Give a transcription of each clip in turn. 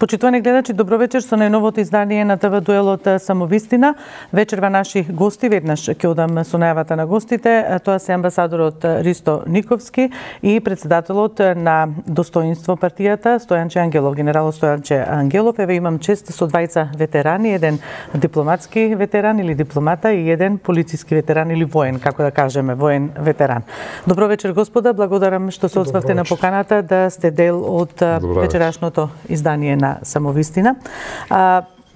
Почитувани гледачи, добро вечер со најновото издание на ТВ Дуелот Самовистина. Вечерва наши гости, веднаш ќе одам со најавата на гостите. Тоа се амбасадорот Ристо Никовски и председателот на Достоинство партијата Стојанче Ангелов, генерал Стојанче Ангелов. Еве имам чест со двајца ветерани, еден дипломатски ветеран или дипломата и еден полициски ветеран или воен, како да кажеме, воен ветеран. Добро вечер, господа, благодарам што се одзвавте на поканата да сте дел од вечерашното издание на Самовистина.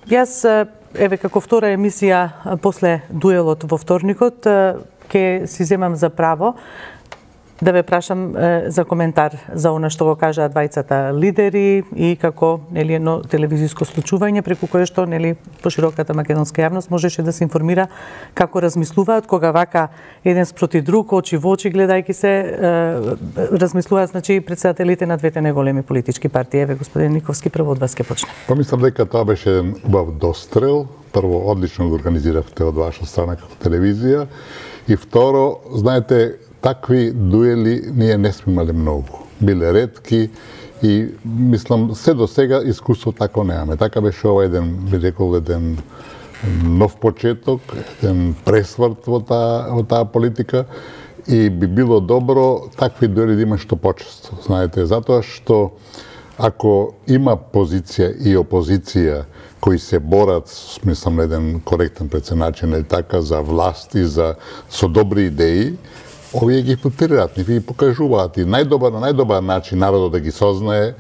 Јас, еве, како втора емисија после дуелот во вторникот, ќе си земам за право да ве прашам за коментар за она што го кажаа двајцата лидери и како нели едно телевизиско случување преку кое што нели пошироката македонска јавност можеше да се информира како размислуваат кога вака еден спроти друг, очи во очи гледајќи се размислуваат, значи председателите на двете најголеми политички партии. Еве, господин Никовски, прво од вас ќе почне. Помислам дека тоа беше еден убав дострел. Прво, одлично го организиравте од ваша страна како телевизија и второ, знаете, такви дуели ние не сме имали многу. Биле ретки и мислам се до сега искуство тако немаме. Така беше ова еден, би рекол, еден нов почеток, еден пресврт во таа политика и би било добро такви дуели да има што почесто. Знаете, затоа што ако има позиција и опозиција кои се борат, мислам, на еден коректен начин или така, за власт и со добри идеи, овие ги филтрираат, ни покажуваат и на најдобар начин народот да ги сознае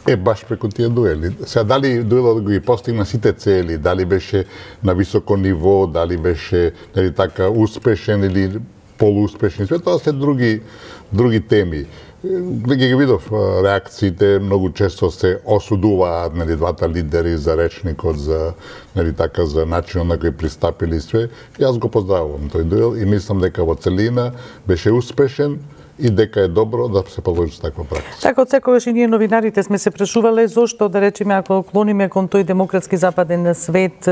е баш преку тие дуели. Сега, дали дуелот го ги постигна сите цели, дали беше на високо ниво, дали беше нели така успешен или полууспешен, све тоа се други теми. Ги видов реакциите, многу често се осудуваат нели двата лидери за речникот, за нели така за начинот на кој пристапили све. Јас го поздравувам тој дуел и мислам дека во целина беше успешен и дека е добро да се продолжи таква практика. Така, од секогаш и ние новинарите сме се прашувале зошто, да речеме, ако клониме кон тој демократски западен свет,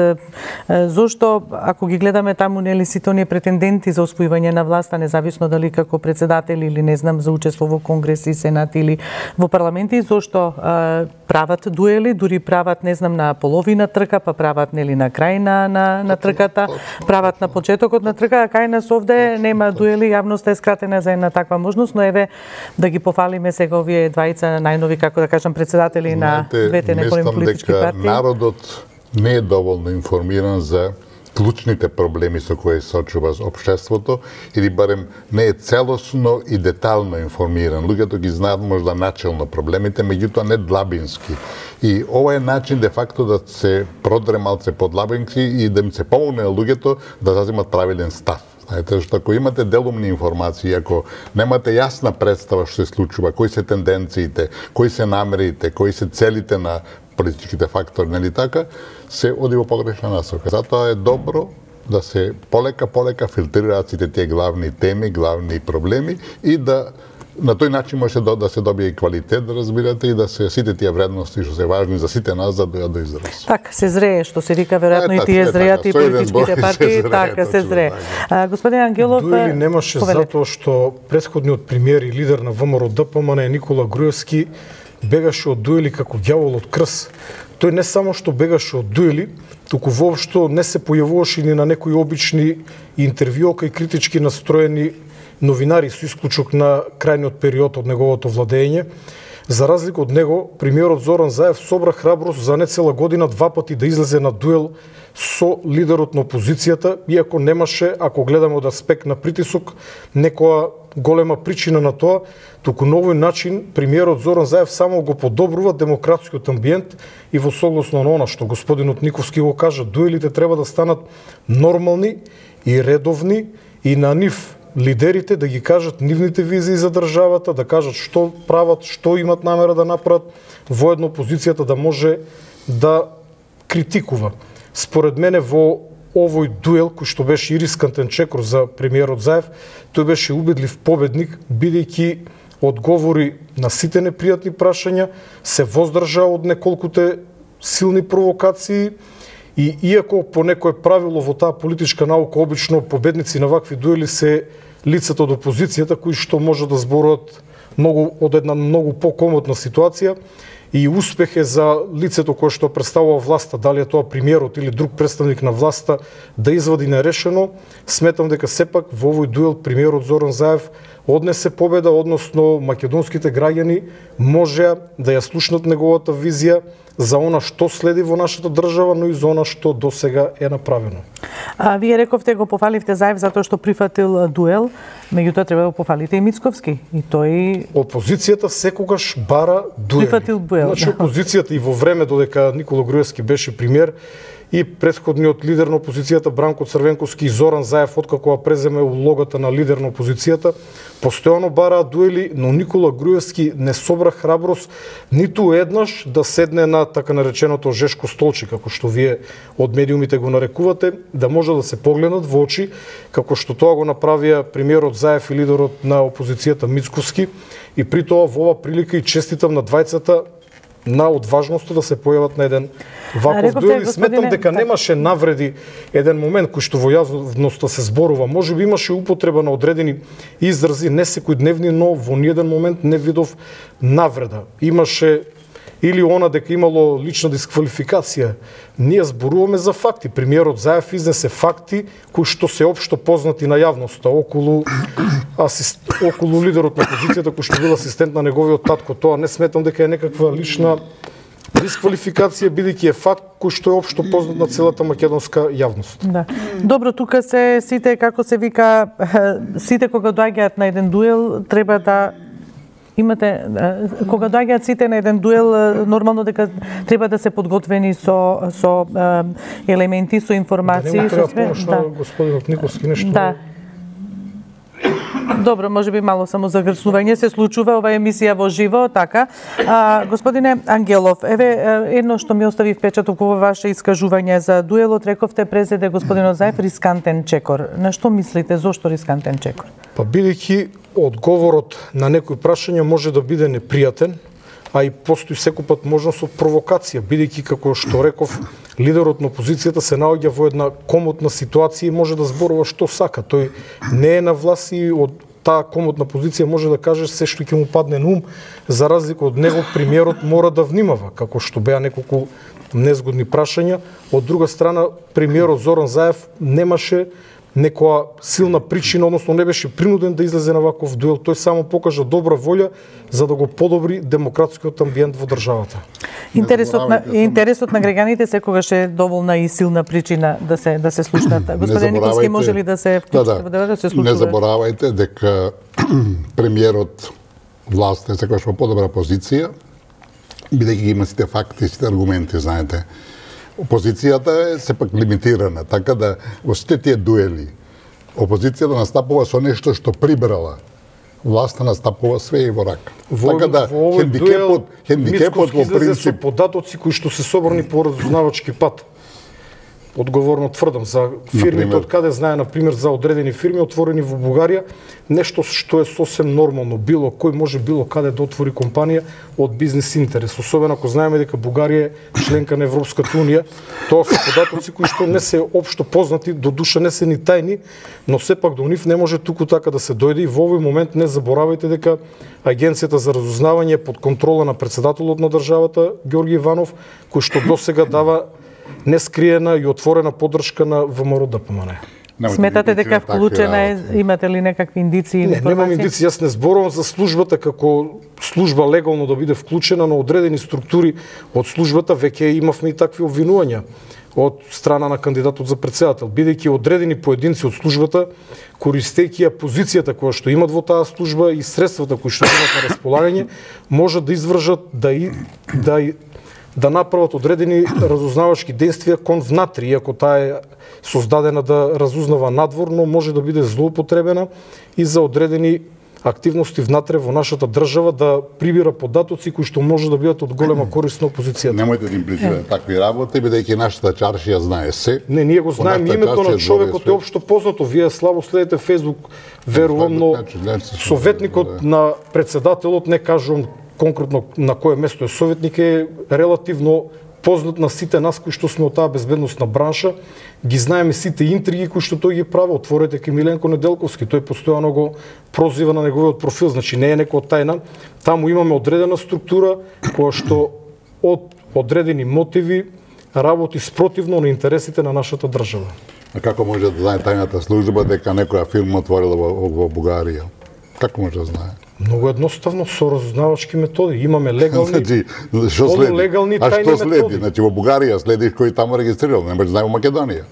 зошто, ако ги гледаме таму, нели сите оние претенденти за освојување на власта, независно дали како председатели или не знам за учество во Конгрес и Сенат или во парламенти, зошто прават дуели, дури прават, не знам, на половина трка, па прават нели на крај на трката, прават на почетокот на трка, а кај нас овде нема дуели, јавноста е скратена за една таква можност, но еве да ги пофалиме сега овие двајца најнови, како да кажам, председатели на двете најголеми политички партии. Мислам дека народот не е доволно информиран за клучните проблеми со кои се соочува општеството или барем не е целосно и детално информиран. Луѓето ги знаат можда начелно проблемите, меѓутоа не длабински. И ова е начин де факто да се продре малце подлабински и да им се помогне на луѓето да заземат правилен став. Знаете, што ако имате делумни информации, ако немате јасна представа што се случува, кои се тенденциите, кои се намерите, кои се целите на политичките фактори, нели така, се оди во погрешна насока. Затоа е добро да се полека филтрираат сите тие главни теми, главни проблеми и да на тој начин може да се добие и квалитет, да разбирате, и да се сите тие вредности што се важни за сите нас да дојдат до израз. Так, се зрее, што се вика, веројатно и тие зреат и политичките партии, така се зрее. Господин Ангелов, дуели немаше затоа што претходниот премиер и лидер на ВМРО ДПМН Никола Груевски бегаше од дуели како ѓавол од крс. Тој не само што бегаше од дуели, туку воопшто не се појавуваше ни на некои обични интервјуа и критички настроени новинари со исклучок на крајниот период од неговото владење. За разлика од него, премиерот Зоран Заев собра храброст за нецела година два пати да излезе на дуел со лидерот на опозицијата, иако немаше, ако гледаме од аспект на притисок, некоја голема причина на тоа, туку на овој начин премиерот Зоран Заев само го подобрува демократскиот амбиент и во согласно на она што господинот Никовски го кажа, дуелите треба да станат нормални и редовни и на нив лидерите да ги кажат нивните визии за државата, да кажат што прават, што имат намера да направат, воедно опозицијата да може да критикува. Според мене во овој дуел, кој што беше и рискантен чекор за премиерот Заев, тој беше убедлив победник, бидејќи одговори на сите непријатни прашања, се воздржа од неколкуте силни провокации и иако по некое правило во таа политичка наука обично победници на вакви дуели се лицата од опозицијата кои што може да зборуваат од една многу покомотна ситуација, и успех е за лицето кое што представува власта, дали е тоа премиерот или друг представник на власта, да извади нерешено. Сметам дека сепак во овој дуел премиерот Зоран Заев однесе победа, односно македонските граѓани можеа да ја слушнат неговата визија за она што следи во нашата држава, но и за она што досега е направено. Вие рековте, го пофаливте Заев затоа што прифатил дуел, меѓутоа треба да го пофалите и Мицковски. И тој... Опозицијата секогаш бара дуели. Прифатил дуел. Значи, опозицијата и во време додека Никола Груевски беше премиер, и претходниот лидер на опозицијата Бранко Црвенковски и Зоран Заев, откако ја преземе улогата на лидер на опозицијата, постојано бараа дуели, но Никола Груевски не собра храброст ниту еднаш да седне на така нареченото жешко столче, како што вие од медиумите го нарекувате, да може да се погледнат во очи, како што тоа го направија премиерот Заев и лидерот на опозицијата Мицковски, и при тоа во ова прилика и честитам на двајцата на одважноста да се појават на еден ваков дуел. И сметам дека немаше навреди еден момент кој што во јавноста се зборува. Може би имаше употреба на одредени изрази, не секојдневни, но во ниеден момент не видов навреда. Имаше или она дека имало лична дисквалификација. Ние зборуваме за факти. Премиерот Заев изнесе факти кои што се општо познати на јавноста околу лидерот на опозицијата кој што бил асистент на неговиот татко. Тоа не сметам дека е некаква лична дисквалификација, бидејќи е факт кој што е општо познат на целата македонска јавност. Да. Добро, тука се сите, како се вика, сите кога доаѓаат на еден дуел, треба да имате, кога доаѓаат сите на еден дуел, нормално дека треба да се подготвени со елементи, со информации. Да, нема треба помош на господинот Никовски нешто. Да. Добро, може би мало само загрцнување се случува, ова емисија во живо, така. Господине Ангелов, еве едно што ми остави впечаток во ваше искажување за дуелот, рековте презеде господинот Заев рискантен чекор. На што мислите, зошто рискантен чекор? Па бидејќи одговорот на некои прашања може да биде непријатен, а и постои секојпат можност од провокација, бидејќи како што реков, лидерот на опозицијата се наоѓа во една комотна ситуација и може да зборува што сака. Тој не е на власт и од таа комотна позиција може да каже се што ќе му падне на ум, за разлика од него премиерот мора да внимава, како што беа неколку незгодни прашања. Од друга страна, премиерот Зоран Заев немаше некоја силна причина, односно не беше принуден да излезе на ваков дуел. Тој само покажа добра волја за да го подобри демократскиот амбиент во државата. Интересот на граѓаните секогаш е доволна и силна причина да се слушнат. Господин Никовски, може ли да се вклучите да се случува? Не заборавајте дека премиерот власт е секогаш во подобра позиција, бидејќи има сите факти, сите аргументи, знаете. Опозицијата е сепак лимитирана, така да во сите тие дуели опозицијата настапува со нешто што прибрала. Власта настапува све и во рака. Така да хендикепот во принцип со податоци кои што се собрани по разузнавачки пат. Одговорно тврдам за фирмите од каде знае, например, за одредени фирми отворени во Бугарија, нешто што е сосем нормално. Било кој може било каде да отвори компанија од бизнес интерес. Особено ако знаеме дека Бугарија е членка на Европската унија, тоа се податоци кои што не се општо познати, до душа не се ни тајни, но сепак до нив не може туку така да се дојде. И во овој момент не заборавајте дека Агенцијата за разузнавање под контрола на председателот на државата Ѓорги Иванов, кој што досега дава нескриена и отворена поддршка на ВМРО ДПМН. Сметате дека вклучена е, имате ли некакви индиции? Не, немам индиции, јас не зборувам за службата како служба легално да биде вклучена, но одредени структури од службата веќе имавме и такви обвинувања од страна на кандидатот за председател, бидејќи одредени поединци од службата, користејќи ја позицијата која што имат во таа служба и средствата кои што имат на располагање, можат да извршат да направат одредени разузнавачки действија кон внатри, иако таа е создадена да разузнава надвор, но може да биде злоупотребена и за одредени активности внатре во нашата држава да прибира податоци кои што може да бидат од голема корист на опозицијата. Немојте да им причинете такви работи, бидејќи нашата чаршија знае се. Не, ние го знаеме, името на човекот е општо познато. Вие слабо следите Фејсбук, верувам, но советникот на председателот, не кажувам конкретно на кое место е советник, е релативно познат на сите нас кои што сме од таа безбедносна бранша, ги знаеме сите интриги кои што тој ги прави. Отворете ке Миленко Неделковски, тој постојано го прозива на неговиот профил, значи не е некоја тајна. Таму имаме одредена структура која што од одредени мотиви работи спротивно на интересите на нашата држава. А како може да знае тајната служба дека некоја фирма отворила во Бугарија? Како може да знае? Многу едноставно, со разузнавачки методи. Имаме легални, Значи, што следи? полулегални А тајни што следи? методи. Значи во Бугарија следиш кој таму регистрирал, не може да знае во Македонија.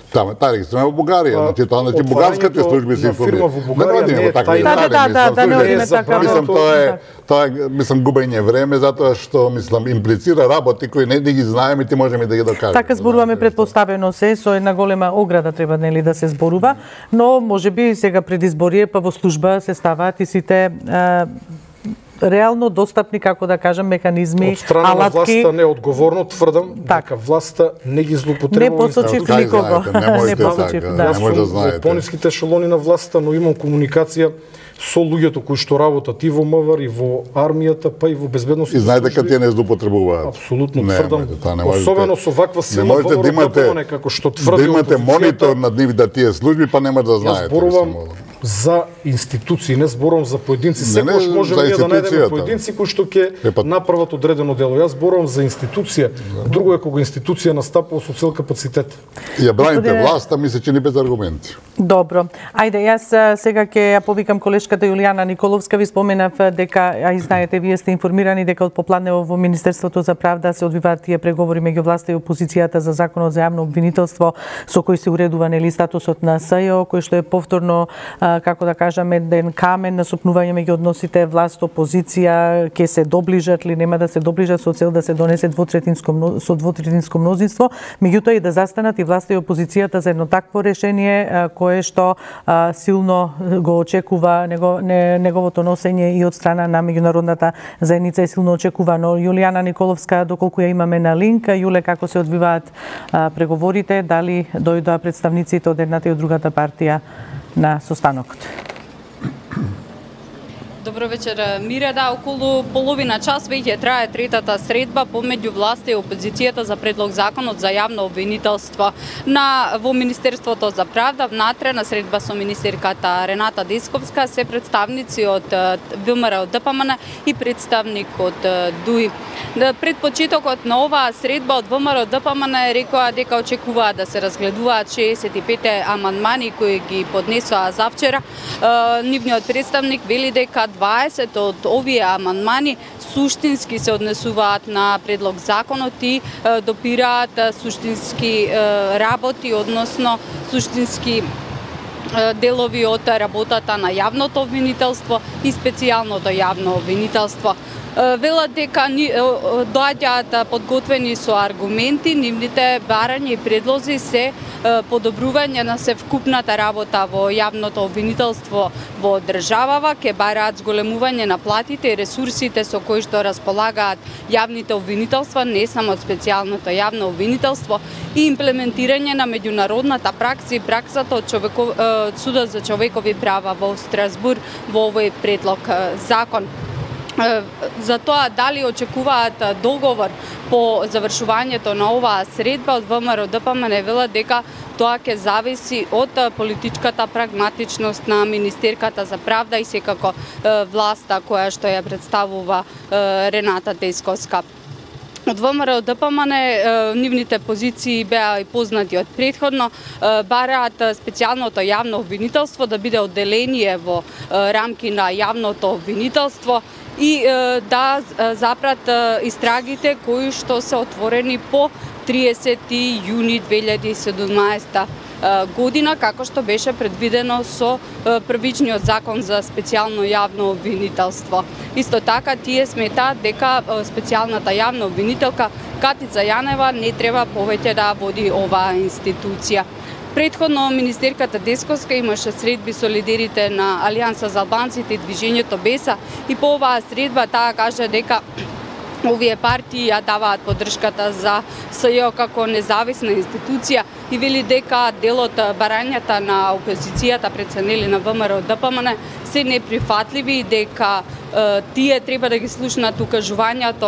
Таа регистрирана во Бугарија, значи бугарските служби се информираат. Во Бугарија не е тајна. Да, не одиме така. Мислам тоа е губење време затоа што имплицира работи кои не ги знаеме и ти можеме да ги докажеме. Така зборуваме предпоставено се со една голема ограда треба нели да се зборува, но можеби сега пред избори па во служба се ставаат и сите реално достапни, како да кажам, механизми, од страна алатки. на власта неодговорно тврдам дека власта не ги злоупотребува. Не посочив никого. Не посочив, да. Не може да Јас знаете. во пониските ешелони на власта, но имам комуникација со луѓето кои што работат и во МВР, и во армијата, па и во безбедносните И знаете дека тие не злоупотребуваат. Апсолутно тврдам. можете. Особено со ваква Не сила можете да имате како што тврди да имате опозицијата. монитор над нивните тие служби, па нема да Јас знаете. зборувам мислам. за институции, не зборувам за поединци. Не, Секогаш за можеме ние да најдеме институцијата. поединци кои што ќе Епа- направат одредено дело. Јас зборувам за институција. Друго е кога институција настапува со цел капацитет. Ја браните Господине- власта, ми се чини без аргументи. Добро. Ајде, јас сега ќе ја повикам колешката Јулијана Николовска. Ви споменав дека, а и знаете, вие сте информирани дека од попладнево во Министерството за правда се одвиваат тие преговори меѓу власта и опозицијата за законот за јавно обвинителство со кој се уредува нели статусот на СЈО, кој што е повторно, како да кажам, еден камен на сопнување меѓу односите власт опозиција, ќе се доближат или нема да се доближат со цел да се донесе со двотретинско мнозинство, меѓутоа и да застанат и власта и опозицијата за едно такво решение кое што силно го очекува неговото носење и од страна на меѓународната заедница е силно очекувано. Јулијана Николовска, доколку ја имаме на линк, Јуле, како се одвиваат преговорите, дали дојдоа представниците од едната и од другата партија на состанокот? Добро вечер, Мире. Да, околу половина час веќе трае третата средба помеѓу власта и опозицијата за предлог законот за јавно обвинителство во Министерството за правда. Внатре на средба со министерката Рената Десковска се представници од ВМРО ДПМН и представник од ДУИ. Пред почетокот на оваа средба од ВМРО ДПМН рекоа дека очекуваат да се разгледуваат 65 амандмани кои ги поднесоа завчера. Нивниот представник вели дека 20 од овие амандмани суштински се однесуваат на предлог законот и допираат суштински работи, односно суштински делови од работата на јавното обвинителство и специјалното јавно обвинителство. Велат дека доаѓаат подготвени со аргументи, нивните барања и предлози се подобрување на севкупната работа во јавното обвинителство во државава, ке бараат зголемување на платите и ресурсите со кои што располагаат јавните обвинителства, не само специјалното јавно обвинителство, и имплементирање на меѓународната пракса и праксата од Судот за човекови права во Страсбург во овој предлог закон. За тоа дали очекуваат договор по завршувањето на оваа средба, од ВМРО ДПМН велат дека тоа ќе зависи од политичката прагматичност на министерката за правда и секако власта која што ја представува Рената Десковска. Од ВМРО ДПМН нивните позиции беа и познати од претходно, бараат специјалното јавно обвинителство да биде одделение во рамки на јавното обвинителство и да запрат истрагите кои што се отворени по 30 јуни 2017 година, како што беше предвидено со првичниот закон за специјално јавно обвинителство. Исто така, тие сметаат дека специјалната јавна обвинителка Катица Јанева не треба повеќе да води оваа институција. Предходно министерката Десковска имаше средби со лидерите на Алијанса за албанците и движењето Беса и по оваа средба таа кажа дека овие партии ја даваат поддршката за СЈО како независна институција и вели дека дел од барањата на опозицијата преценели на ВМРО ДПМН се неприфатливи и дека тие треба да ги слушнат укажувањата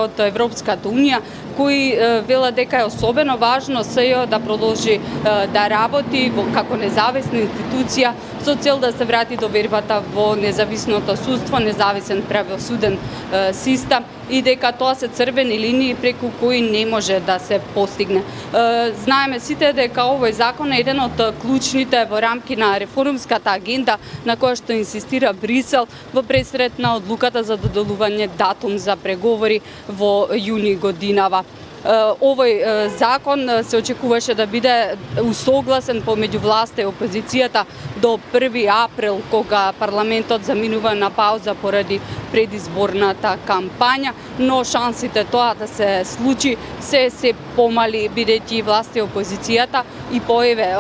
од Европската унија, кои велат дека е особено важно СЈО да продолжи да работи како независна институција со цел да се врати довербата во независното судство, независен правосуден систем и дека тоа се црвени линии преку кои не може да се постигне. Знаеме сите дека овој закон е еден од клучните во рамки на реформската агенда на која што инсистира Брисел во пресред на одлуката за доделување датум за преговори во јуни годинава. Овој закон се очекуваше да биде усогласен помеѓу власта и опозицијата до 1 април, кога парламентот заминува на пауза поради предизборната кампања, но шансите тоа да се случи се помали, бидејќи власта и опозицијата и поеве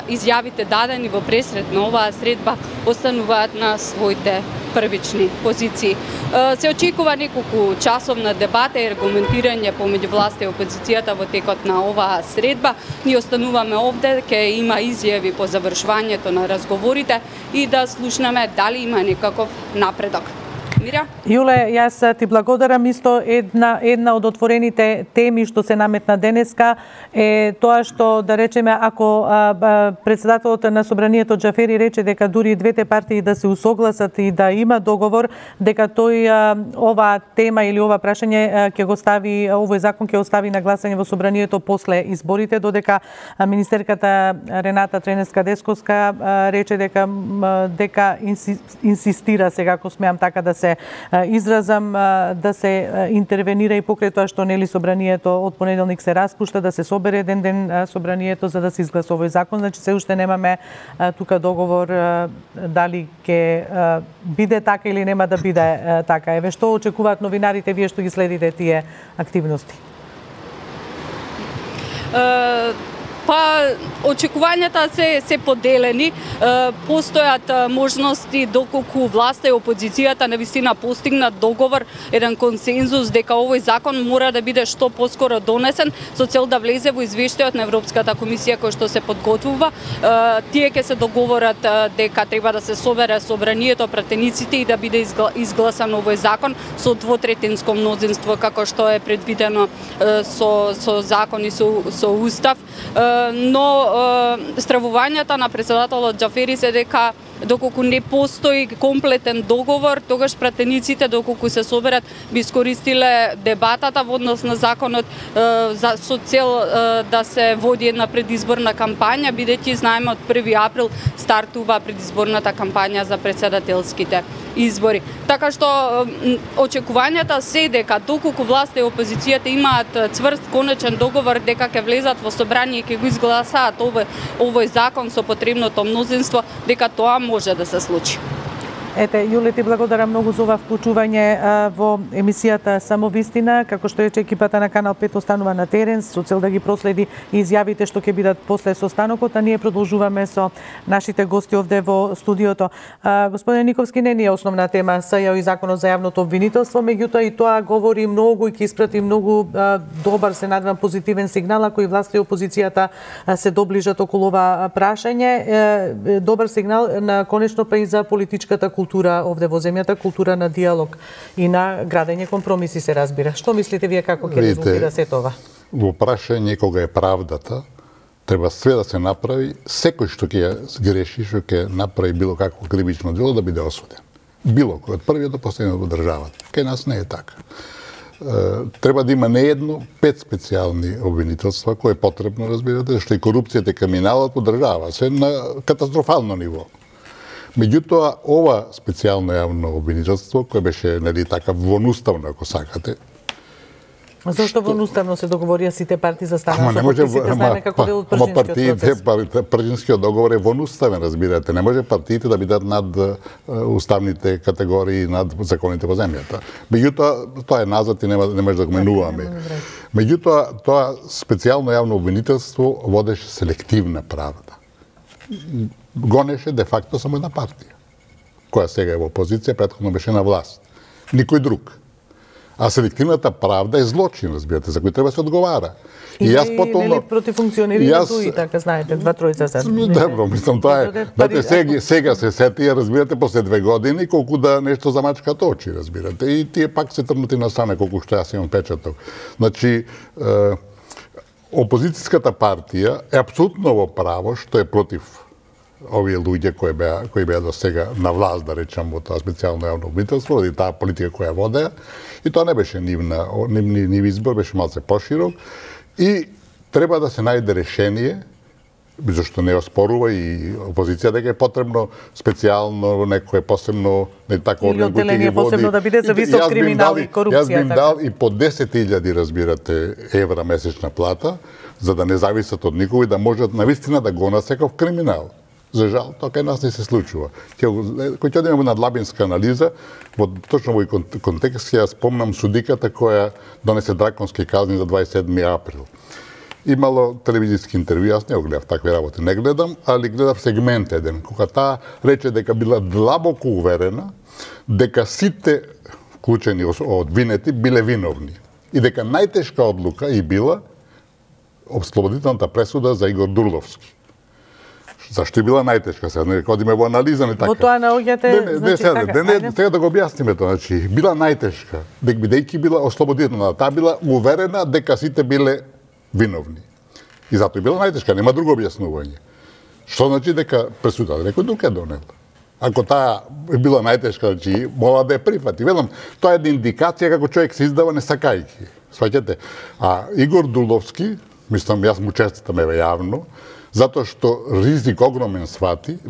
изјавите дадени во пресред на оваа средба остануваат на своите првични позиции. Се очекува неколку часовна дебата и аргументирање помеѓу власта и опозицијата во текот на оваа средба. Ние остануваме овде, ќе има изјави по завршувањето на разговорите и да слушнеме дали има некаков напредок. Мира? Јуле, јас ти благодарам. Исто една од отворените теми што се наметна денеска е тоа што, да речеме, ако председателот на Собранието Џафери рече дека дури двете партии да се усогласат и да има договор, дека тој оваа тема или ова прашање ќе го стави, овој закон ќе остави на гласање во Собранието после изборите, додека министерката Рената Тренеска-Десковска рече дека инсистира, сега ако смеам така да се изразам, да се интервенира и покрај тоа што нели Собранието од понеделник се распушта, да се собере еден ден Собранието за да се изгласа овој закон. Значи се уште немаме тука договор дали ќе биде така или нема да биде така. Еве што очекуваат новинарите, вие што ги следите тие активности? Па, очекувањата се поделени. Постојат можности доколку власта и опозицијата навистина постигнат договор, еден консензус дека овој закон мора да биде што поскоро донесен со цел да влезе во извештајот на Европската комисија кој што се подготвува. Тие ќе се договорат дека треба да се собере Собранието, пратениците и да биде изгласан овој закон со двотретинско мнозинство како што е предвидено со закон и со устав. Но стравувањата на председателот Џафери се дека доколку не постои комплетен договор, тогаш пратениците доколку се соберат би искористиле дебатата во однос на законот со цел да се води една предизборна кампања, бидејќи знаеме од 1 април стартува предизборната кампања за председателските избори. Така што очекувањата се дека доколку власта и опозицијата имаат цврст конечен договор дека ќе влезат во собрание и ќе го изгласаат овој закон со потребното мнозинство, дека тоа може да се случи. Ете, Јуле, ти благодарам многу за ова вклучување во емисијата Самовистина. Како што рече, екипата на Канал 5 останува на терен со цел да ги проследи изјавите што ќе бидат после состанокот, а ние продолжуваме со нашите гости овде во студиото. Господин Никовски, не е основна тема СЈО и законот за јавното обвинителство, меѓутоа и тоа говори многу и ќе испрати многу добар, се надевам, позитивен сигнал ако и власта и опозицијата се доближат околу ова прашање. Добар сигнал на конечно па и за политичката култура овде во земјата, култура на диалог и на градење компромиси, се разбира. Што мислите вие како ќе резултира се тоа? Во прашање кога е правдата, треба све да се направи, секој што ќе греши, што ќе направи било какво кривично дело да биде осуден. Било кој, од првиот до последниот во државата. Кај нас не е така. Треба да има не едно, 5 специјални обвинителства, кои е потребно, разбирате, што и корупцијата и криминалот во држава се на катастрофално ниво. Меѓутоа, ова специјално јавно обвинителство, кое беше, нели, така вонуставно, ако сакате. Зошто вонуставно се договорија сите партии за стана со потписите? Знаеме како дел од пржинскиот процес. Пржинскиот договор е вонуставен, разбирате. Не може партиите да бидат над уставните категории, над законите во земјата. Меѓутоа, тоа е назад и не може да го менуваме. Меѓутоа, тоа специјално јавно обвинителство водеше селективна правда. Гонеше де факто само една партија, која сега е во опозиција, претходно беше на власт. Никој друг. А селективната правда е злочин, разбирате, за кој треба се одговара. И јас потоа против функционери на ТУИ, така знаете, 2-3 сад. Добро, мислам тоа е. Дате сега се сетија, разбирате, после 2 години колку да нешто замачкат очи, разбирате. И тие пак се трнати на страна колку што јас имам печаток. Значи, опозицијската партија е апсолутно во право што е против овие луѓе кои беа до сега на власт, да речам, во тоа специјално јавно обвинителство, или таа политика која водеа, и тоа не беше нив избор, беше малце поширок, и треба да се најде решение, зашто не оспорува и опозиција дека е потребно специјално некое посебно тако орган кој ќе ги води. Посебно да биде за висок криминал и корупција. Јас би им дал и по 10.000, разбирате, евра месечна плата, за да не зависат од никој и да можат навистина да го насекав криминал. За жал, тоа кај нас не се случува. Кој ќе одиме на длабинска анализа, точно во контекст ја спомнам судиката која донесе драконски казни за 27. април. Имало телевизиски интервју, јас не го гледав, такви работи не гледам, али гледав сегмент еден, кога таа рече дека била длабоко уверена дека сите вклучени обвинети биле виновни и дека најтешка одлука и била ослободителната пресуда за Игор Дурловски. Зашто била најтешка сега? Нека одиме во анализа, не така. Во тоа наоѓате, сега да го објасниме тоа, значи била најтешка, бидејќи била ослободителна, таа била уверена дека сите биле виновни. И затоа била најтешка, нема друго објаснување. Што значи дека пресудата некој друг е донел? Ако таа била најтешка, значи мора да ја прифати. Велам, тоа е една индикација како човек се издава не сакајки. Сваќате? А Игор Дурловски, мислам, јас му честитам јавно, затоа што ризик огромен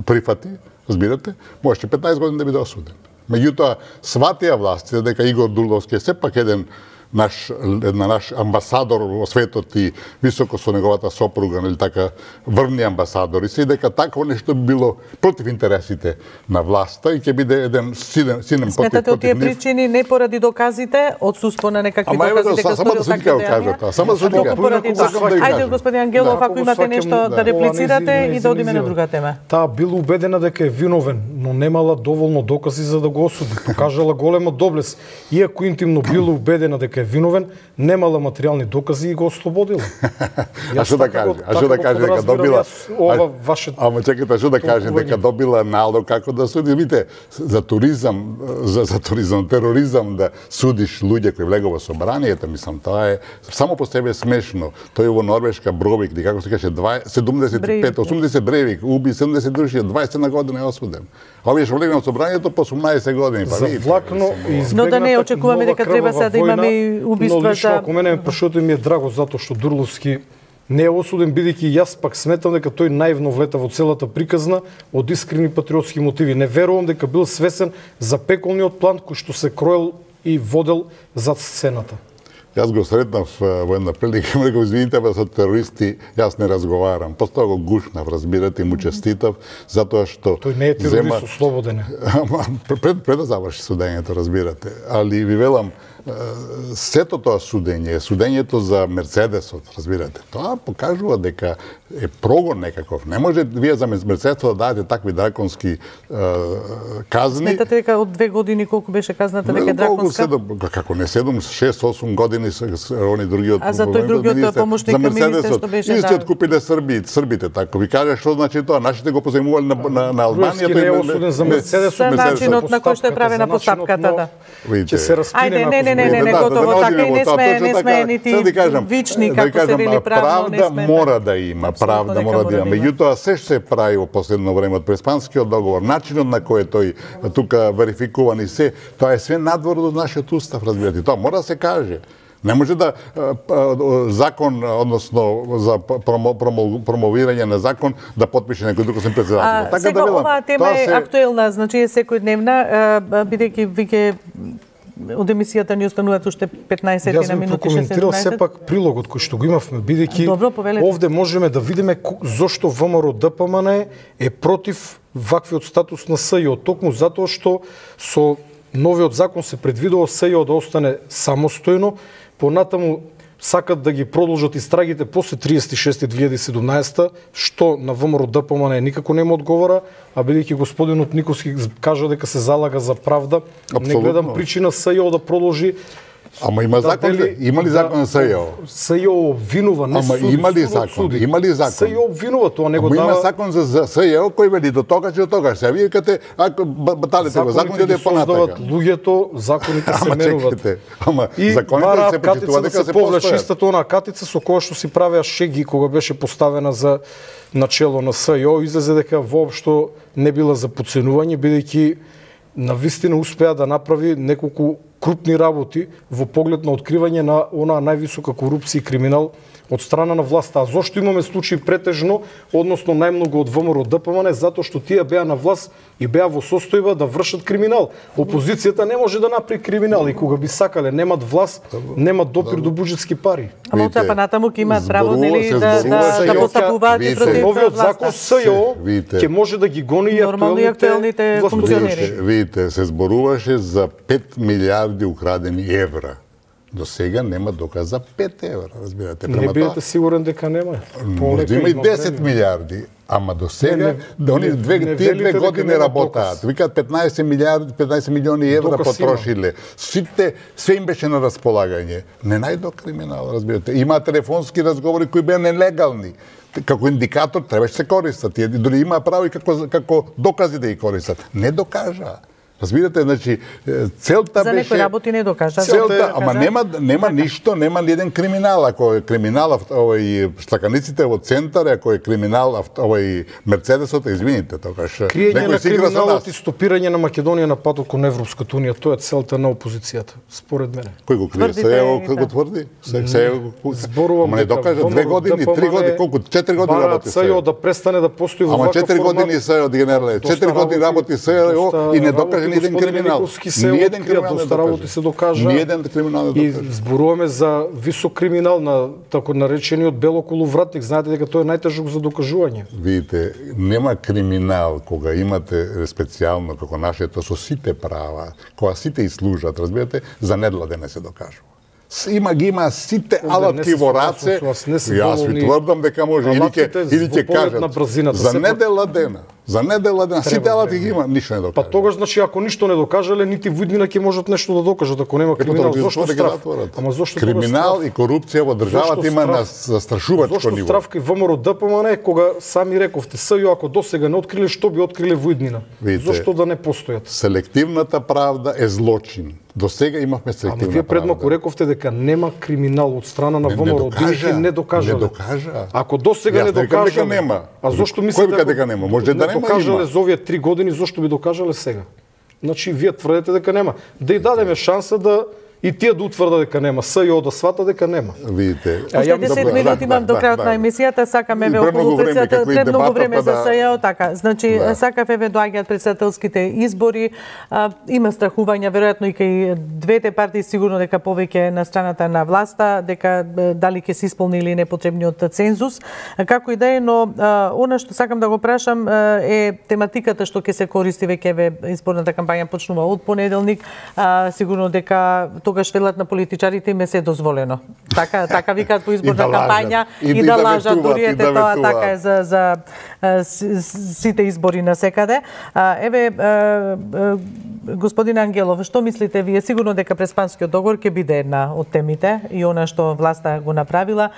прифати, разбирате, можеше 15 години да биде осуден. Меѓутоа, сватија властите дека Игор Дурловски е сепак еден наш амбасадор во светот и високо со неговата сопруга, или така, врвни амбасадори, и дека такво нешто би било против интересите на власта и ќе биде еден силен против нив. Сметате од тие причини не поради доказите, одсуство на некакви докази дека сторил такви дејанија? Само да поради тоа. Ајде, господин Ангелов, ако имате нешто да реплицирате и да одиме на друга тема. Таа била убедена дека е виновен, но немала доволно докази за да го осуди. Покажала голема доблест, иако интимно била убедена дека е виновен, немала материјални докази и го ослободила. А што да каже? А што да каже дека добила? Ама чекайте, што да каже дека добила налог како да суди? Видите, за туризам, за тероризам да судиш луѓе кои влегува во собранието, мислам, тоа е само по себе смешно. Тој во Норвешка Бровик, како се каже, 75, 80 Бревик, уби 70 души, 21 година е осуден. А овие што влегува во собранието по 18 години, па видите. Но да не очекуваме дека треба сега да имаме и убиства за... Но лично, ако мене прашото ми е драго затоа што Дурловски не е осуден, бидејќи јас пак сметам дека тој наивно влета во целата приказна од искрени патриотски мотиви. Не верувам дека бил свесен за пеколниот план кој што се кроел и водел зад сцената. Јас го сретнав во една прилика, му реков, извините, со терористи јас не разговарам. После тоа го гушнав, разбирате, и му честитав, затоа што... Тој не е терорист, ослободен е. Пред да заврши судењето, разбирате. Али ви велам, сето тоа судењето за Мерцедесот, разбирате, тоа покажува дека е прогон некаков. Не може вие за Мерцедесот да дадете такви драконски казни. Сметате дека од 2 години колку беше казната дека е драконска? Како не 7, 6-8 години они другиот... А за тој другиот помошник министер што беше... Истиот купиле србите, така. Ви кажа што значи тоа, нашите го позајмувале на Албанија. Тој не е осуден за Мерцедесот. За начинот на кој што е правена постапката, да. Ќе се распине на Не, готово така и не сме нити вични, како се вели правно, не сме. Правда мора да има, правда мора да има. Меѓутоа, се што се прави во последно време од Преспанскиот договор, начинот на кој тој тука верификуван и се, тоа е све надвор од нашиот устав, разбирате. Тоа мора да се каже. Не може да закон, односно за промовирање на закон, да подпише некој друг освен председател. Така сега оваа тема е актуелна, значи е секојдневна, бидејќи виќе од емисијата ни остануваат уште 15 на минути, 16. Јас би прокоментирал сепак прилогот кој што го имавме, бидејќи овде можеме да видиме зошто ВМРО ДПМН е против ваквиот статус на СЈО, токму затоа што со новиот закон се предвидува СЈО да остане самостојно, понатаму сакат да ги продолжат истрагите после 36.2017, што на ВМРО ДПМН никако нема одговора, а бидејќи господинот Никовски кажа дека се залага за правда, не гледам причина СЈО да продолжи Ама има закон, има ли закон за СЈО? СЈО обвинува, не суди. Ама има ли закон? Има ли закон? СЈО обвинува, тоа не го дава. дава. Има закон за СЈО кој вели до тогаш и до тогаш. Се вие кате ако баталите го закон ќе понатака. Луѓето, законите се менуваат. Ама законите се почитува дека се постојат. Истата она катица со која што си правеа шеги кога беше поставена за начело на СЈО, излезе дека воопшто не била за подценување, бидејќи навистина успеа да направи неколку крупни работи во поглед на откривање на онаа највисока корупција и криминал од страна на власта. А зошто имаме случаи претежно, односно најмногу од ВМРО ДПМН, затоа што тие беа на власт и беа во состојба да вршат криминал. Опозицијата не може да направи криминал и кога би сакале, немат власт, немат допир до буџетски пари. Ама од па натаму ќе имаат право нели да постапуваат и против новиот закон СЈО ќе може да ги гони и актуелните функционери. Видите, се зборуваше за 5 милиарди украдени евра. До сега нема доказ за 5 евра, разбирате. Не бидете сигурен дека нема. Може да има и 10 милиарди, ама до сега, тие 2 години работаат. Викаат 15 милиарди, 15 милиони евра потрошиле. Све им беше на располагање. Не најдо криминал, разбирате. Има телефонски разговори кои беа нелегални. Како индикатор требаше се користат. Дори има право и како докази да ги користат. Не докажа. Разбирате, значи целта за беше некои работи не докажа. Целта, ама нема ништо, нема ни еден криминал. Ако е криминал овој штаканиците во центар, ако е криминал овој Мерцедесот, извините, тогаш криење на криминалот и стопирање на Македонија на патот кон Европската унија, тоа е целта на опозицијата, според мене. Кој го крие? Кој го тврди? Зборувам не докажа 2 години, 3 години, колку 4 години работи СЈО да престане да постои во ваков формат. Ама 4 години СЈО генерале, 4 години работи СЈО и не докажа ни еден криминал. Ниеден криминал доста работи се докажа. Ниеден криминал не докажа. И зборуваме за висок криминал на тако наречениот белоколовратник. Знаете дека тоа е најтежок за докажување. Видите, нема криминал кога имате специјално како нашето со сите права, кога сите и служат, разбирате, за недла не се докажува. Има сите алатки во раце. Јас ви тврдам дека може или ќе кажат за недела дена. За недела дена, сите алати ги има, ништо не докажа. Па тогаш, значи, ако ништо не докажале, нити во иднина ќе можат нешто да докажат, ако нема криминал. Зошто страф? Ама зошто криминал и корупција во државата има на застрашувачко ниво? Зошто страф кај ВМРО ДПМН, кога сами рековте, СЈО ако досега не откриле, што би откриле во иднина? Зошто да не постојат? Селективната правда е злочин. До сега имавме селективна правда. Ама вие предмалку рековте дека нема криминал од страна на ВМРО, бидејќи не докажале. Не докажа. Ако досега не докажале, а зошто мислите дека нема? Може да докажале за овие 3 години, зошто би докажале сега? Значи, вие тврдите дека нема. Да и дадеме шанса да и тие да утврдат дека нема, СЈО да свата дека нема. Видите. Уште 10 минути имам до крајот на емисијата, сакаме ве околу председател, премногу време за СЈО, така. Значи, сакаве ве доаѓаат председателските избори, има страхувања веројатно и кај двете партии, сигурно дека повеќе на страната на власта, дека дали ќе се исполни или не потребниот цензус. Како и да е, но она што сакам да го прашам е тематиката што ќе се користи веќе изборната кампања почнува од понеделник, сигурно дека тогаш велат на политичарите им е се дозволено. Така викаат по изборна кампања и да лажат, дури ете тоа така е за сите избори на секаде. Еве, господин Ангелов, што мислите вие? Сигурно дека Преспанскиот договор ќе биде една од темите и она што власта го направила.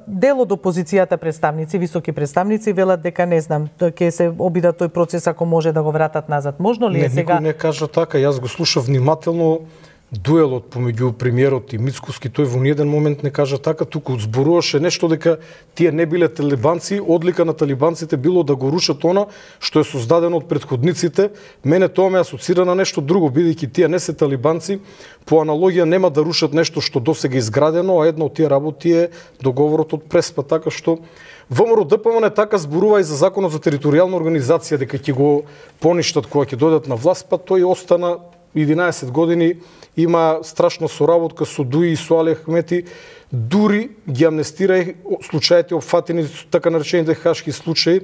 Дел од опозицијата представници, високи представници, велат дека не знам, ќе се обидат тој процес ако може да го вратат назад. Можно ли е сега? Никој не кажа така. Јас го слушав внимателно дуелот помеѓу премиерот и Мицкоски, тој во ниеден момент не кажа така, туку зборуваше нешто дека тие не биле талибанци, одлика на талибанците било да го рушат она што е создадено од претходниците. Мене тоа ме асоцира на нешто друго, бидејќи тие не се талибанци, по аналогија нема да рушат нешто што досега изградено, а една од тие работи е договорот од Преспа, така што ВМРО ДПМН така зборува и за законот за територијална организација дека ќе го поништат кога ќе дојдат на власт, па тој остана 11 години, има страшна соработка со ДУИ и со Али Ахмети, дури ги амнестира случаите опфатени со така наречените хашки случаи,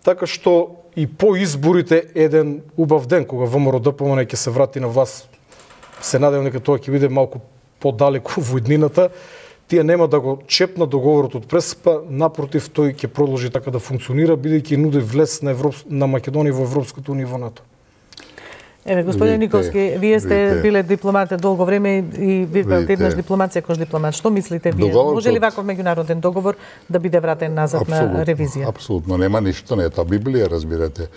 така што и по изборите еден убав ден кога ВМРО ДПМН ќе се врати на власт, се надевам дека тоа ќе биде малку подалеку во иднината, тие нема да го чепнат договорот од Преспа, напротив тој ќе продолжи така да функционира бидејќи нуди влез на Македонија во Европската унија во НАТО. Еве, господин Никовски, вие сте биле дипломат долго време и ви еднаш дипломација кој дипломат. Што мислите вие? Може ли ваков меѓународен договор да биде вратен назад на ревизија? Апсолутно, нема ништо, не е тоа Библија, разбирате.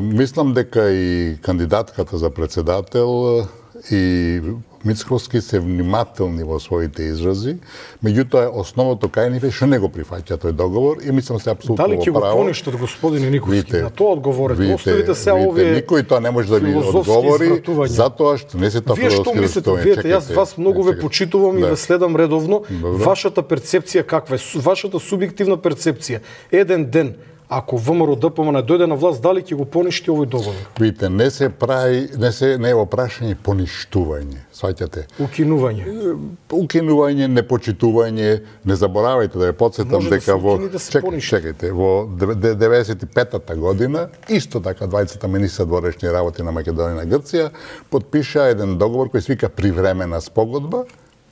Мислам дека и кандидатката за председател и Мицковски се внимателни во своите изрази, меѓутоа основното кај нив е што не го прифаќа тој договор и мислам се апсолутно дали ќе го поништат господин Никовски? На тоа одговорете. Оставите се овие. Никој тоа не може да ви одговори затоа што не се тоа филозофски. Вие што мислите? Видете, јас вас многу ве почитувам и ве следам редовно. Вашата перцепција каква е? Вашата субјективна перцепција. Еден ден ако ВМРО ДПМН дојде на власт, дали ќе го поништи овој договор? Видите, не се прави, не е опрашање поништување, сваќате? Укинување. Укинување, непочитување, не заборавајте да ја потсетам дека чекајте, во 95-та година, исто така двајцата министри дворешни работи на Македонија и Грција потпиша еден договор кој се вика привремена спогодба.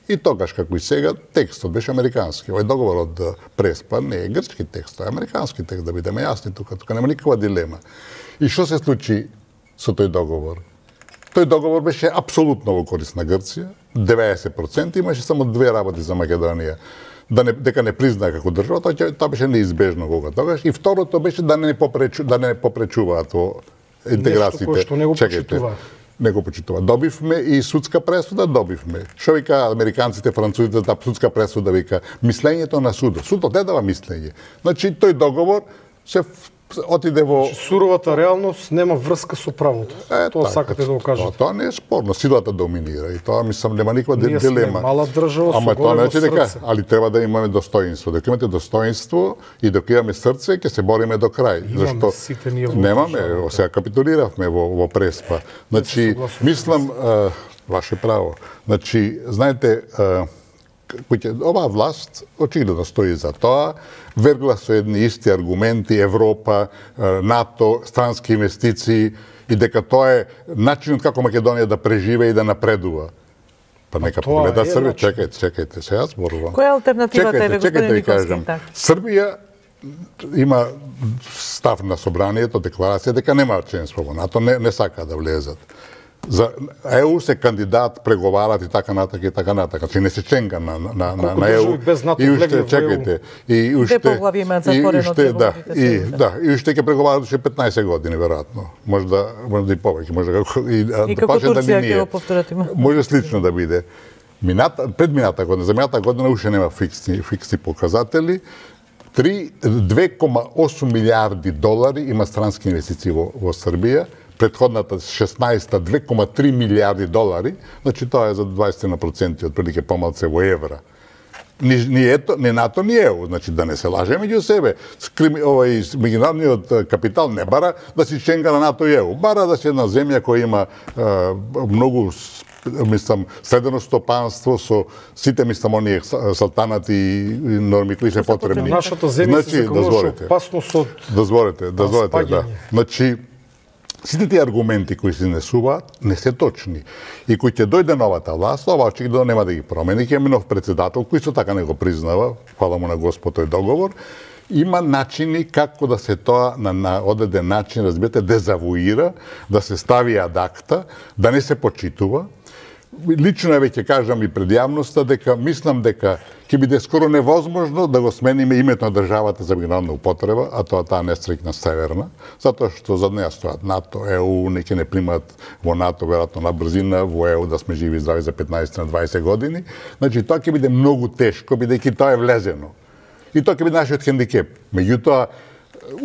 И тогаш, како и сега, текстот беше американски. Овој договор од Преспа не е грчки текст, тоа е американски текст, да бидеме јасни тука нема никаква дилема. И што се случи со тој договор? Тој договор беше апсолутно во корист на Грција, 90%, имаше само две работи за Македонија. Дека не призна како држава, тоа беше неизбежно кога тогаш. И второто беше да не попречуваат во интеграциите. Нешто што не го почитуваат. Не го почитува. Добивме и судска пресуда, добивме. Што вика американците, французите, таа судска пресуда вика мислењето на судот. Судот не дава мислење. Значи тој договор се отиде во суровата реалност нема врска со правото. Тоа сакате да го кажете. Тоа не е спорно, силата доминира и тоа мислам нема никаква дилема. Ние сме мала држава со големо срце. Али треба да имаме достоинство. Дека имате достоинство и дека имаме срце, ќе се бориме до крај. Зашто немаме, сега капитулиравме во Преспа. Значи, мислам, ваше право. Значи, знаете, оваа власт очигледно стои за тоа, вергла со едни исти аргументи, Европа, НАТО, странски инвестиции и дека тоа е начинот како Македонија да преживе и да напредува. Па нека погледа Србија, чекајте, сега зборувам. Која е алтернативата е, господин Никовски? Србија има став на собранието, декларација дека нема членство во НАТО, не сака да влезат. За ЕУ се кандидат, преговарат и така натака и така натака. Значи не се членка на ЕУ. И уште чекајте. И уште поглави имаат затворено преговорите. И уште ќе преговарат уште 15 години веројатно. Може да и повеќе, може како Турција ќе го повторат има. Може слично да биде. Пред мината година, за мината година уште нема фиксни показатели. 2,8 милиарди долари има странски инвестиции во Србија. Предходната 16-та 2,3 милиарди долари, значи тоа е за 20% отприлike помалце во евра. Ни НАТО, ни ЕУ, значи да не се лажеме меѓу себе. Меѓународниот капитал не бара да си членка на НАТО и ЕУ, бара да си една земја која има многу средено стопанство со сите оние салтанати и норми кои се потребни. Нашата земја се заколнуваше опасност од Дозволете, да. Значи, сите тие аргументи кои се изнесуваат не се точни. И кој ќе дојде новата власт, ова очигледно нема да ги промени. Ќе имаме нов председател кој со така не го признава, фала му на Господ тој договор. Има начини како да се тоа на одреден начин, разбирате, дезавуира, да се стави ад акта, да не се почитува. Лично веќе кажам и пред јавноста дека мислам дека ќе биде скоро невозможно да го смениме името на државата за меѓународна употреба, а тоа таа нестрикна северна, затоа што зад неа стојат НАТО, ЕУ, неќе не примат во НАТО веројатно на брзина, во ЕУ да сме живи и здрави за 15 на 20 години. Значи тоа ќе биде многу тешко бидејќи тоа е влезено. И тоа ќе биде нашиот хендикеп. Меѓутоа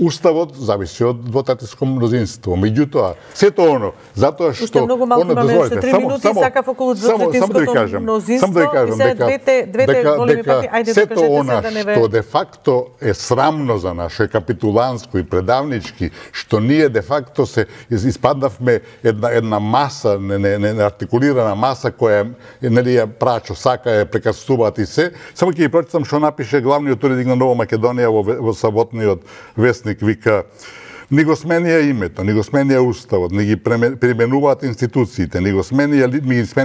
Уставот зависи од двотретинско мнозинство. Меѓутоа, сето оно, затоа што... Уште многу малку имаме, уште 3 минути, сакав околу двотретинското мнозинство и сега двете големи партии, ајде да кажете се да не ве... Што де факто е срамно за наше, е капитуланско и предавнички, што ние де факто се испаднавме една маса, не артикулирана маса која нели ја прачо сака ја прекастуваат и се. Само ќе ги прочитам што напише главниот уредник на Нова Македонија во саботниот вестник, вика: Ни го сменија името, ни го сменија уставот, ни ги применуваат институциите, ни ги сменија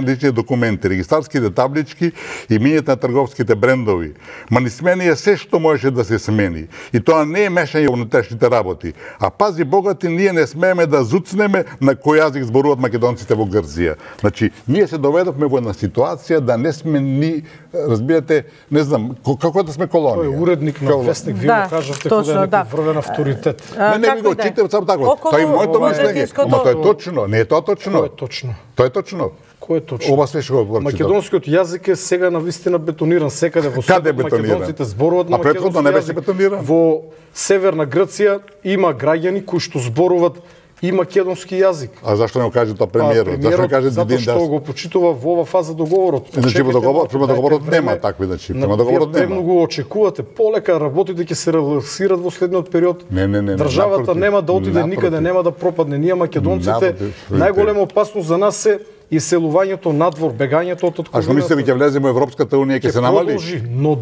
лични документи, регистарските таблички и минјето на трговските брендови. Ма ни сменија се што можеше да се смени. И тоа не е мешање во внатрешните работи. А пази богати, ние не смееме да зуцнеме на кој јазик зборуваат македонците во Грција. Значи, ние се доведовме во една ситуација да не сме ни, разбирате, не знам, како да сме колонија. Тој уредник на вестник, вие го кажавте кога е некој врвен авторитет. Не, ви го читам само така. Тоа е моето мислење, ама тоа е точно, не е тоа точно. Тоа е точно. Тоа е точно. Кој е точно? Ова се што го прочитам. Македонскиот јазик е сега навистина бетониран секаде во светот. Македонците зборуваат на македонски јазик. не беше бетониран. Во северна Грција има граѓани кои што зборуваат и македонски јазик. А зашто не го каже тоа премиерот? Зашто не каже затоа што го почитува во ова фаза договорот. Значи во договорот нема такви, значи према договорот нема. Вие го очекувате полека работите ќе се реализираат во следниот период. Не. Државата нема да отиде никаде, нема да пропадне. Ние македонците најголема опасност за нас е иселувањето надвор, бегањето од А што мислите ќе влеземе во Европската унија ќе се намали? Но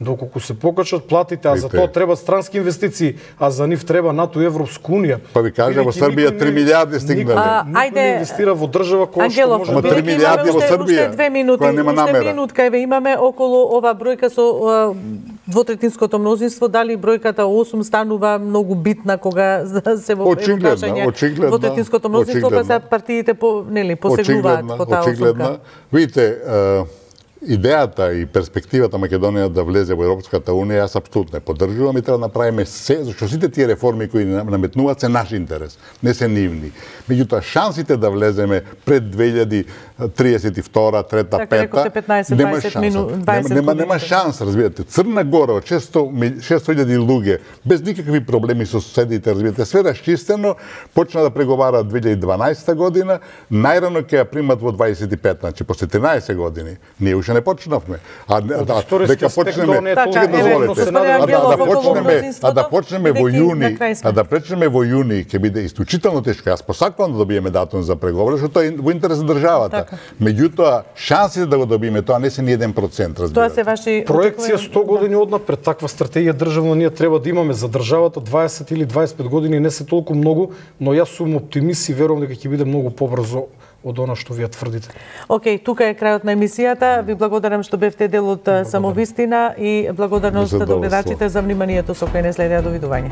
доколку се покачат платите, а за тоа треба странски инвестиции, а за нив треба НАТО и Европска унија. Па ви кажа во Србија 3 милиарди стигнале. Ајде инвестира во држава која што може да 3 милиарди во Србија. Која нема намера. Уште минутка еве имаме околу ова бројка со двотретинското мнозинство, дали бројката 8 станува многу битна кога се во прашање двотретинското мнозинство, па се партиите посегнуваат по таа осумка. Видите, идејата и перспективата Македонија да влезе во Европската унија, јас апсолутно поддржувам и треба да направиме се, зашто сите тие реформи кои наметнуваат се наш интерес, не се нивни. Меѓутоа, шансите да влеземе пред 2032, 3-та, 5-та, нема шанс, разбирате. Црна Гора, 600.000 луѓе, без никакви проблеми со соседите, разбирате, све расчистено, почна да преговара 2012 година, најрано ќе ја примат во 25, значи после 13 години. Ние уште не почнавме. Дека почнеме, да почнеме во јуни, ќе биде исклучително тешко. Јас посакувам да добиеме датум за преговори, што тоа е во интерес на државата. Меѓутоа, шансите да го добиеме тоа не се ни 1%, разбирате. Тоа се ваши проекција 100 години однапред, таква стратегија државна ние треба да имаме за државата 20 или 25 години, не се толку многу, но јас сум оптимист и верувам дека ќе биде многу побрзо од она што вие тврдите. Океј, тука е крајот на емисијата. Ви благодарам што бевте дел од Самовистина и благодарност до гледачите за вниманието со кој не следеа. Довидување.